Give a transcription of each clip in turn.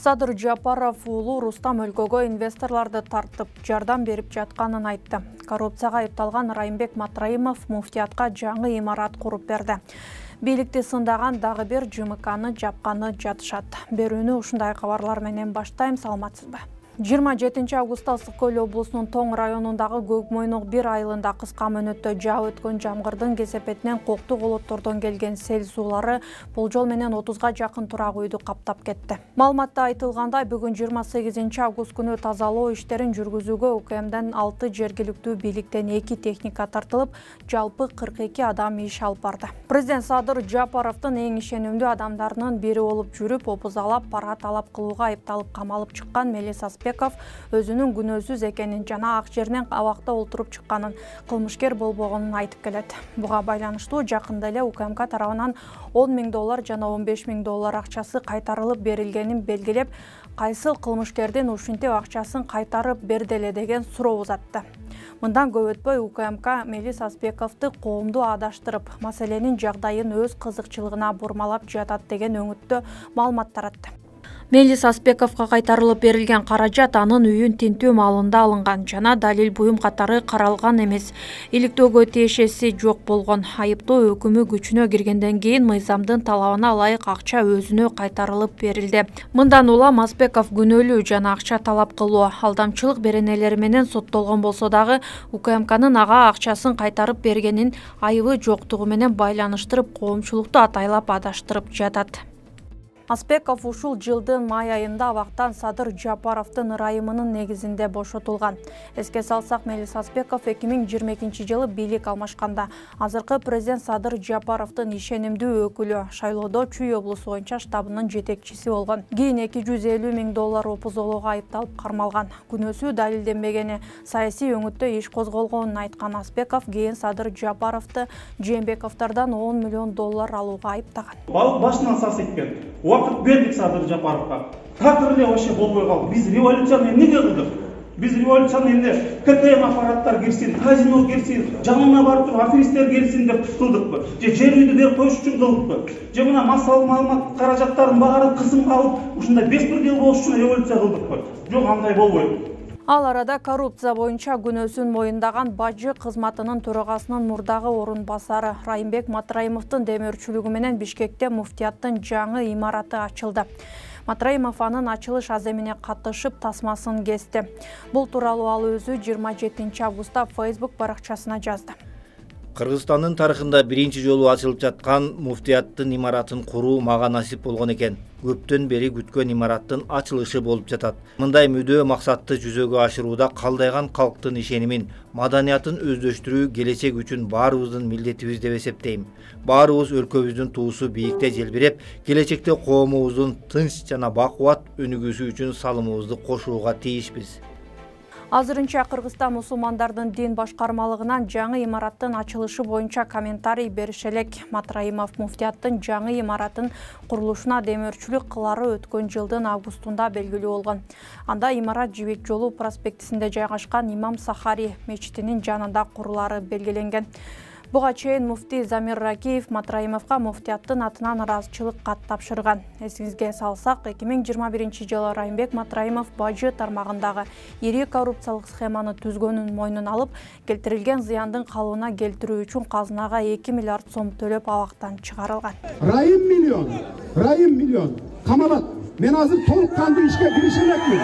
Садыр Жапаров уулу Рустам өлкөгө инвесторларды тартып, жардам берип жатканын айтты. Коррупцияга айыпталган Райымбек Матраимов муфтиятка жаңы имарат куруп берди. Бийликти сындаган дагы бир ЖМКны жапканы жатышат. Берүүнү ушундай кабарлар менен баштайм, саламатсызбы? 27 августта Ысык Көл облусунун Тоң районундагы Көкмойнок 1 айылында кыска мөөнөттө жаап өткөн жамгырдын кесепетинен коктуу колоттордон келген сел суулары болжол менен 30га жакын турак үйдү каптап кетти. Маалыматта айтылгандай, бүгүн 28 август күнү тазалоо иштерин жүргүзүүгө УКМден 6 жергиликтүү бийликтен 2 техника тартылып, жалпы 42 адам иш алып барды. Президент Садыр Жапаровдун эң ишенимдүү адамдарынын бири болуп жүрүп, опузалап, пара талап кылууга айыпталып камалып чыккан Мелис өзүнүн күнөөсүз экенин жана ак жеринен абакта олтуруп чыкканын, кылмышкер болбогонун айтып келет. Буга байланыштуу жакында эле УКМК тарабынан $10 000 жана $15 000 акчасы кайтарылып берилгенин белгилеп, кайсыл кылмышкердин ушинтип акчасын кайтарып берди деген суроо узатты. Мындан көп өтпөй УКМК Мелис Аспековду коомду адаштырып, маселенин жагдайын өз кызыкчылыгына бурмалап жатат деген өңүттө маалымат таратты. Мелис Аспековго кайтарылып берилген каражат анын үйүн тинтүү маалында алынган жана далил буюм катары каралган эмес. Иликтөөгө тиешеси жок болгон. Айыптоо өкүмү күчүнө киргенден кийин мыйзамдын талабына ылайык акча өзүнө кайтарылып берилди. Мындан улам Аспеков күнөөлүү жана акча талап кылуу, алдамчылык беренелери менен соттолгон болсо дагы УКМКнын ага акчасын кайтарып бергенин айыбы жоктугу менен байланыштырып, коомчулукту атайлап адаштырып жатат. Аспеков ушул жылдын май айында абактан Садыр Жапаровдун ырайымынын негизинде бошотулган. Эске салсак, Мелис Аспеков 2022 бийлик алмашканда азыркы президент Садыр Жапаровдун ишенимдүү өкүлү, шайлоодо Чүй облусу боюнча штабынын жетекчиси болгон. Кийин $250 000 опузолоого айыпталып кармалган. Күнөөсү далилденбегени, саясий өңүттө иш козголгонун айткан Аспеков кийин Садыр Жапаровду Жээнбековдордон $10 million алууга айыптаган. Балық башынан сасыйт. Уақыт бердік Садыр Жапаровға. Такыр эле вообще болбой калды. Биз революцияны эмнеге кылдык? Биз революцияны эмне КТМ аппараттар кирсин, казино кирсин, жанына барып туруп аферисттер келсин деп кылдыкпы? Же жер үйдү берип коюш үчүн кылдыкпы? Же мына массалык маалымат каражаттарын баарын кысымга алып, ушундай беспредел болуш үчүн революция кылдыкпы? Жок, андай болбойт. Ал арада коррупция боюнча күнөөсүн моюндаган бажы кызматынын төрагасынын мурдагы орун басары Райымбек Матраимовдун демөөрчүлүгү менен Бишкекте муфтияттын жаңы имараты ачылды. Матраимов анын ачылыш аземине катышып тасмасын кести. Бул тууралуу ал өзү 27 августта Facebook баракчасына жазды. Кыргызстандын тарыхында биринчи жолу ачылып жаткан муфтияттын имаратын куруу мага насип болгон экен. Көптөн бери күткөн имараттын ачылышы болуп жатат. Мындай мүдөө максатты жүзөгө ашырууда калдайган калктын ишенимин, маданиятын өздөштүрүү келечек үчүн баарыбыздын милдетибиз деп эсептейм. Баарыбыз өлкөбүздүн туусу бийикте желбиреп, келечекте коомубуздун тынч жана бакубат өнүгүүсү үчүн салымыбызды кошууга тийишпиз. Азырынча Кыргызстан мусулмандардын дин башкармалыгынан жаңы имараттын ачылышы боюнча комментарий бериш элек. Матраимов муфтияттын жаңы имараттын курулушуна демөөрчүлүк кылары өткөн жылдын августунда белгилүү болгон. Анда имарат Жибек жолу проспектисинде жайгашкан Имам Сахари мечитинин жанында курулары белгиленген. Буга чейин муфтий Замир Ракиев Матраимовго муфтияттын атынан ыраазычылык кат тапшырган. Эсиңизге салсак, 2021 жылы Райымбек Матраимов бажы тармагындагы ири коррупциялык схеманы түзгөнүн мойнуна алып, келтирилген зыяндын калыбына келтирүү үчүн казынага 2 миллиард сом төлөп абактан чыгарылган. Райым миллион камалат. Мен азыр толук кандуу ишке кирише элекмин.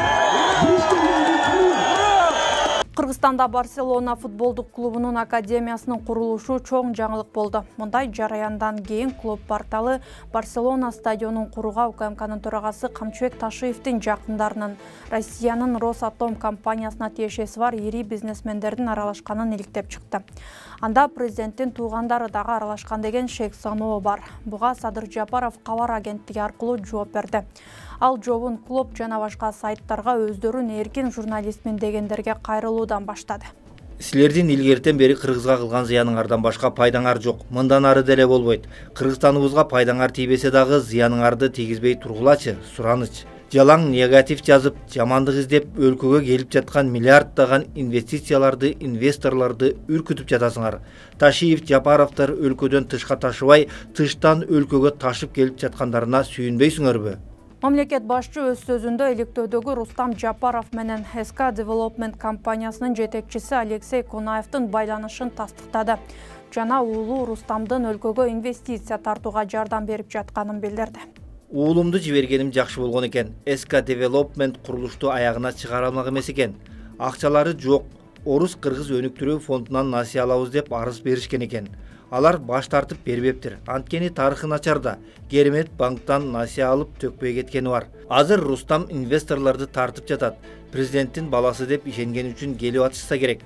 Кыргызстанда Барселона футболдук клубунун академиясынын курулушу чоң жаңылык болду. Мындай жараяндан кийин клуб порталы Барселона стадионун курууга УКМКнын төрагасы Камчыбек Ташиевдин жакындарынын Россиянын Росатом компаниясына тиешеси бар ири бизнесмендердин аралашканын иликтеп чыкты. Анда президенттин туугандары дагы аралашкан деген шек саноо бар. Буга Садыр Жапаров кабар агенттиги аркылуу жооп берди. Ал жообун клуб жана башка сайттарга өздөрүн эркин журналистмин дегендерге кайрылуудан баштады. Силердин илгертен бери Кыргызга кылган зыяныңардан башка пайдаңар жок. Мындан ары деле болбойт. Кыргызстаныбызга пайдаңар тийбесе дагы зыяныңарды тийгизбей тургулачы, сураныч. Жалаң негатив жазып, жамандык издеп, өлкөгө келип жаткан миллиарддаган инвестицияларды, инвесторлорду үркүтүп жатасыңар. Ташиев, Жапаровдор өлкөдөн тышка ташыбай, тыштан өлкөгө ташып келип жаткандарына сүйүнбөйсүңөрбү? Мамлекет башчы өз сөзүндө иликтөөдөгү Рустам Жапаров менен СК Development компаниясынын жетекчиси Алексей Кунаевдин байланышын тастыктады. Жана уулу Рустамдын өлкөгө инвестиция тартууга жардам берип жатканын билдирди. Уулумду жибергеним жакшы болгон экен. СК Development курулушту аягына чыгара алмак эмес экен. Акчалары жок. Орус-кыргыз өнүктүрүү фондунан насыя алабыз деп арыз беришкен экен. Алар баш тартып бербептир. Анткени тарыхы начарда. Керемет банктан насыя алып төкпөй кеткени бар. Азыр Рустам инвесторлорду тартып жатат. Президенттин баласы деп ишенгени үчүн келип атышса керек.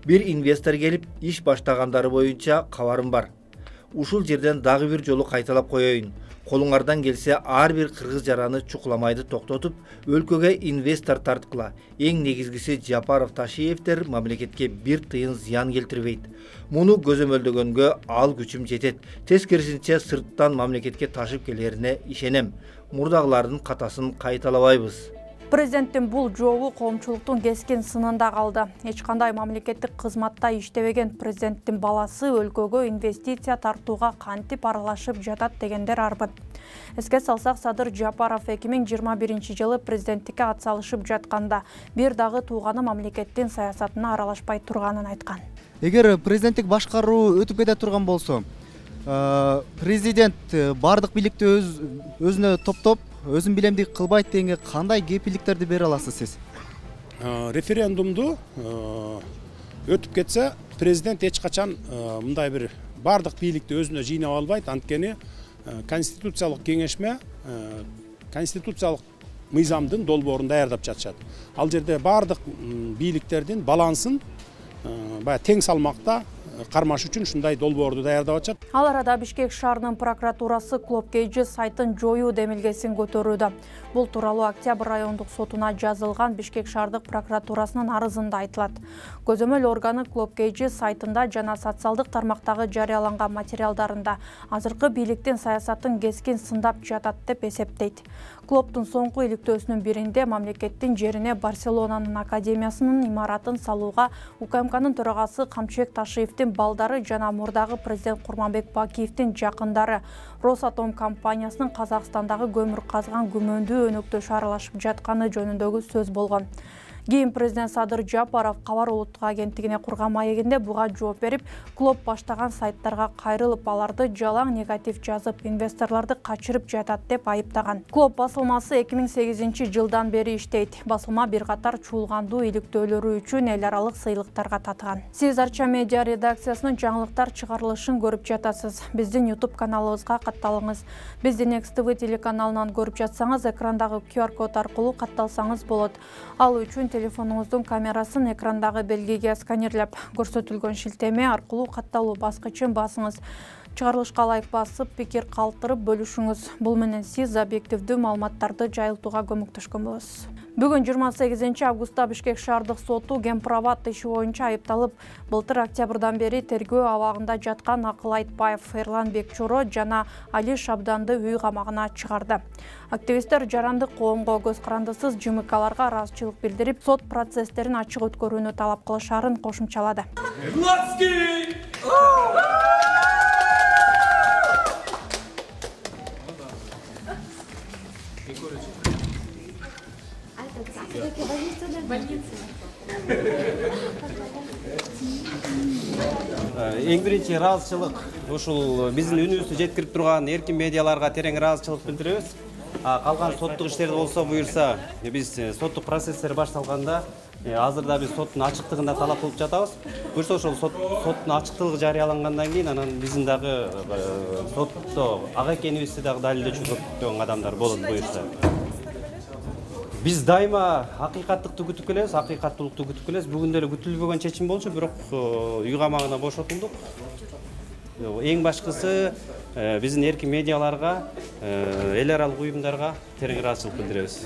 Бир инвестор келип иш баштагандары боюнча кабарым бар. Ушул жерден дагы бир жолу кайталап коеюн. Колуңардан келсе ар бир кыргыз жараны чукуламайды токтотуп, өлкөгө инвестор тарткыла. Эң негизгиси Жапаров Ташиевдер мамлекетке бир тыйын зыян келтирбейт. Муну көзөмөлдөгөнгө ал күчүм жетет. Тескерисинче сырттан мамлекетке ташып келерине ишенем. Мурдагылардын катасын кайталабайбыз. Президенттин бул жообу коомчулуктун кескин сынында калды. Эч кандай мамлекеттик кызматта иштебеген президенттин баласы өлкөгө инвестиция тартууга кантип аралашып жатат дегендер арбыт. Эске салсак, Садыр Жапаров 2021 жылы президенттикке ат салышып жатканда бир дагы тууганы мамлекеттин саясатына аралашпай турганын айткан. Эгер президенттик башкаруу өтүп кете турган болсо, президент бардык бийликти өзүнө топтоп, өзүн билемдик кылбайт дегенге кандай кепилдиктерди бере аласыз сиз? Референдумду өтүп кетсе, президент эч качан мындай бир бардык бийликти өзүнө жыйнап албайт. Анткени конституциялык кеңешме конституциялык мыйзамдын долбоорун даярдап жатышат. Ал жерде бардык бийликтердин балансын баягы тең салмакта кармаш үчүн ушундай долбоорду даярдап атышат. Ал арада Бишкек шаарынын прокуратурасы Клоп KG сайтын жоюу демилгесин көтөрүүдө. Бул тууралуу Октябрь райондук сотуна жазылган Бишкек шаардык прокуратурасынын арызында айтылат. Көзөмөл органы Клоп KG сайтында жана социалдык тармактагы жарыяланган материалдарында азыркы бийликтин саясатын кескин сындап жатат деп эсептейт. Клоптун соңку иликтөөсүнүн биринде мамлекеттин жерине Барселонанын академиясынын имаратын салууга УКМКнын төрагасы Камчыбек Ташиевдин балдары жана мурдагы президент Курманбек Бакиевдин жакындары Росатом компаниясынын Казакстандагы көмүр казган күмөндүү өнөктөшү аралашып жатканы жөнүндөгү сөз болгон. Кийин президент Садыр Жапаров кабар улуттук агенттигине курган маегинде буга жооп берип, Клоп баштаган сайттарга кайрылып, аларды жалаң негатив жазып, инвесторлорду качырып жатат деп айыптаган. Клоп басылмасы 2008 жылдан бери иштейт. Басылма бир катар чуулгандуу иликтөөлөрү үчүн эл аралык сыйлыктарга татыган. Сиз Арча медиа редакциясынын жаңылыктар чыгарылышын көрүп жатасыз. Биздин YouTube каналыбызга катталыңыз. Бизди Next TV телеканалынан көрүп жатсаңыз, экрандагы QR код аркылуу катталсаңыз болот. Ал үчүн телефонуңуздун камерасын экрандагы белгиге сканерлеп, көрсөтүлгөн шилтеме аркылуу катталуу баскычын басыңыз. Чыгарылышка лайк басып, пикир калтырып бөлүшүңүз. Бул менен сиз объективдүү маалыматтарды жайылтууга көмөктөшкөн болосуз. Бүгүн 28 августта Бишкек шаардык соту Гемпроват иши боюнча айыпталып, былтыр октябрдан бери тергөө абагында жаткан Акыл Айтбаев, Эрлан Бекчоро жана Али Шабданды үй камагына чыгарды. Активисттер жарандык коомго көз карандысыз ЖМКларга ыраазычылык билдирип, сот процесстерин ачык өткөрүүнү талап кылышарын кошумчалады. Эң биринчи ыраазычылык ушул биздин үнүбүздү жеткирип турган эркин медиаларга терең ыраазычылык билдиребиз. Калган соттук иштерди болсо буюрса, биз соттук процесстер башталганда азырда биз соттун ачыктыгын да талап кылып жатабыз. Буюрса ошол соттун ачыктыгы жарыялангандан кийин анан биздин дагы сотто ак экенибизди дагы далилдөөчү көптөгөн адамдар болот буюрса. Биз дайыма акыйкаттыкты күтүп келебиз, акыйкаттуулукту күтүп келебиз. Бүгүн деле күтүлбөгөн чечим болчу, бирок үй камагына бошотулдук. Эң башкысы биздин эркин медиаларга, эл аралык уюмдарга терең ыраазычылык билдиребиз.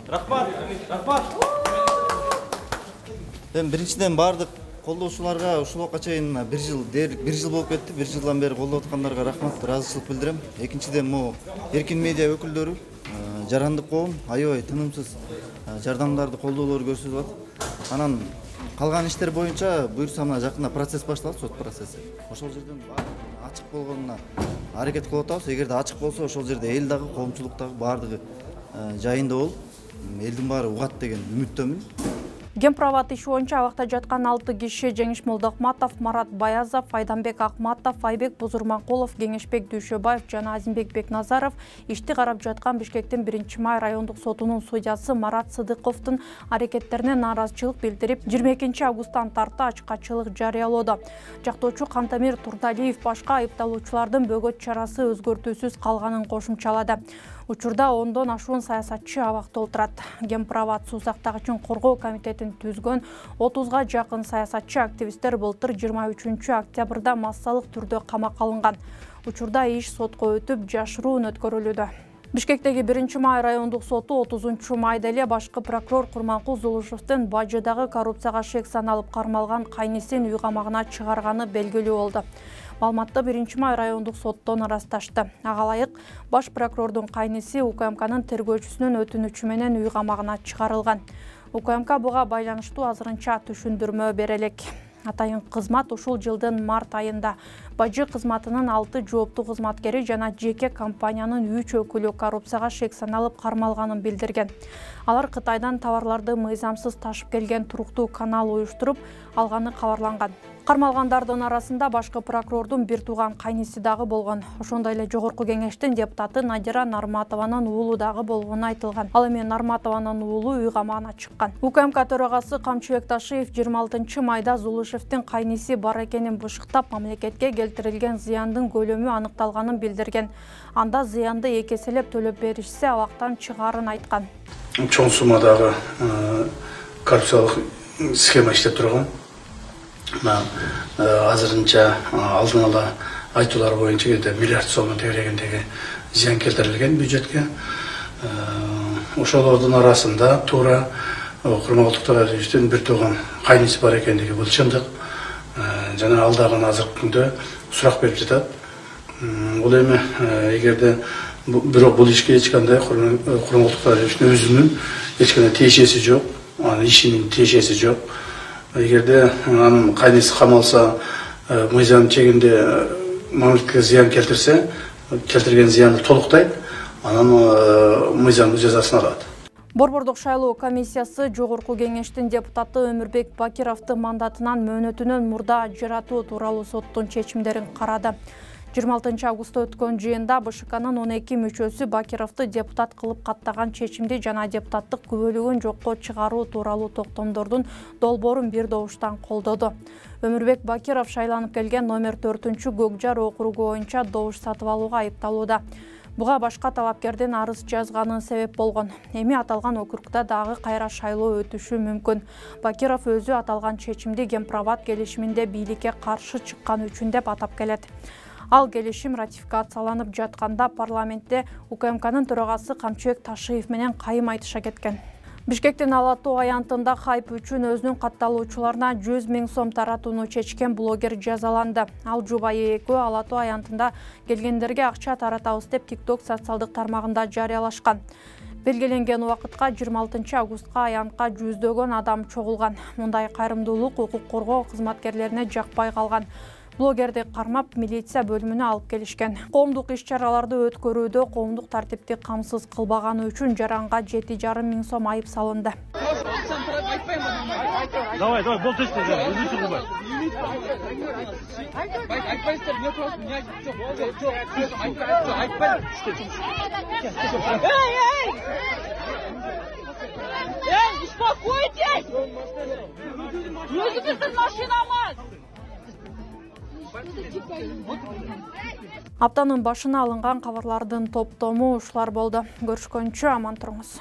Рахмат, рахмат. Биринчиден бардык колдоочуларга ушул убакка чейин бир жыл болуп кетти. Бир жылдан бери колдоп аткандарга рахмат, ыраазычылык билдирем. Экинчиден могу эркин медиа өкүлдөрү, жарандык коом аябай тынымсыз жардамдарды колдоолорду көрсөтүп атат. Анан калган иштер боюнча буюрса мына жакында процесс башталат, сот процесси. Ошол жерден ачык болгонуна аракет кылып атабыз. Эгерде ачык болсо, ошол жерде эл дагы, коомчулук дагы баардыгы жайында болуп, элдин баары угат деген үмүттөмүн. Гемправат иши боюнча абакта жаткан 6 киши Жеңиш Молдокматов, Марат Баязов, Айданбек Акматов, Айбек Бузурманкулов, Кеңешбек Дүйшөбаев жана Азимбек Бекназаров ишти карап жаткан Бишкектин 1-май райондук сотунун судьясы Марат Сыдыковдун аракеттерине нааразычылык билдирип, 22 августтан тарты ачкачылык жарыялоодо. Жактоочу Кантамир Турдалиев башка айыпталуучулардын бөгөт чарасы өзгөртүүсүз калганын кошумчалады. Учурда 10дон ашуун саясатчы абакта отурат. Гемправат суу сактагычын коргоо комитетин түзгөн 30га жакын саясатчы активисттер былтыр 23 октябрда массалык түрдө камакка алынган. Учурда иш сотко өтүп, жашыруун өткөрүлүүдө. Бишкектеги 1-май райондук соту 30-майда эле башкы прокурор Курманкул Зулушевдин Бажыдагы коррупцияга шек саналып кармалган кайнисин үй камагына чыгарганы белгилүү болду. Маалыматты 1-май райондук соттон ырасташты. Ага ылайык баш прокурордун кайниси УКМКнын тергөөчүсүнүн өтүнүчү менен үй камагына чыгарылган. УКМК буга байланыштуу азырынча түшүндүрмө бере элек. Атайын кызмат ушул жылдын март айында Бажы кызматынын 6 жооптуу кызматкери жана жеке компаниянын 3 өкүлү коррупцияга шек саналып кармалганын билдирген. Алар Кытайдан товарларды мыйзамсыз ташып келген туруктуу канал уюштуруп алганы кабарланган. Кармалгандардын арасында башкы прокурордун бир тууган кайниси дагы болгон. Ошондой эле Жогорку кеңештин депутаты Надира Нарматованын уулу дагы болгону айтылган. Ал эми Нарматованын уулу үй камагына чыккан. УКМК төрагасы Камчыбек Ташиев 26-майда Зулушевдин кайниси бар экенин бышыктап, мамлекетке келтирилген зыяндын көлөмү аныкталганын билдирген. Анда зыянды экеселеп төлөп беришсе, абактан чыгаарын айткан. Чоң суммадагы коррупциялык схема иштеп турган. Азырынча алдын ала айтуулар боюнча миллиард сом тегерегиндеги зыян келтирилген бюджетке. Ошолордун арасында туура Курманкул Турдалиевдин бир тууган кайниси бар экендиги бул чындык. Жана ал дагы азыркы күндө сурак берип жатат. Бул эми эгерде бирок бул ишке эч кандай Курманкул Турдалиевдин өзүнүн эч кандай тиешеси жок, анын ишинин тиешеси жок. Эгерде анын кайниси камалса, мыйзам чегинде мамлекетке зыян келтирсе, келтирген зыянды толуктайт, анан мыйзамдуу жазасын алат. Борбордук шайлоо комиссиясы Жогорку кеңештин депутаты Өмүрбек Бакировду мандатынан мөөнөтүнөн мурда ажыратуу тууралуу соттун чечимдерин карады. 26 августта өткөн жыйында БШКнын 12 мүчөсү Бакировду депутат кылып каттаган чечимди жана депутаттык күбөлүгүн жокко чыгаруу тууралуу токтомдордун долбоорун бир добуштан колдоду. Өмүрбек Бакиров шайланып келген номер 4-Көкжар округу боюнча добуш сатып алууга айыпталууда. Буга башка талапкердин арыз жазганын себеп болгон. Эми аталган округда дагы кайра шайлоо өтүшү мүмкүн. Бакиров өзү аталган чечимди Гемправат келишиминде бийликке каршы чыккан үчүн деп атап келет. Ал келишим ратификацияланып жатканда парламентте УКМКнын төрагасы Камчыбек Ташиев менен кайым айтыша кеткен. Бишкектин Ала Тоо аянтында хайп үчүн өзүнүн катталуучуларына 100 000 сом таратууну чечкен блогер жазаланды. Ал жубайы экөө Ала Тоо аянтында келгендерге акча таратабыз деп TikTok социалдык тармагында жарыялашкан. Белгиленген убакытка 26 августка аянтка жүздөгөн адам чогулган. Мындай кайрымдуулук укук коргоо кызматкерлерине жакпай калган. Блогерди кармап милиция бөлүмүнө алып келишкен. Коомдук иш-чараларды өткөрүүдө коомдук тартипти камсыз кылбаганы үчүн жаранга 7,5 миң сом айып салынды. Давай, бол тесте, өзү кылбай. Эй, успокойтесь! Өзүңүздүн машинаңыз! Аптанын башына алынган кабарлардын топтому ушулар болду. Көрүшкөнчө аман туруңуз.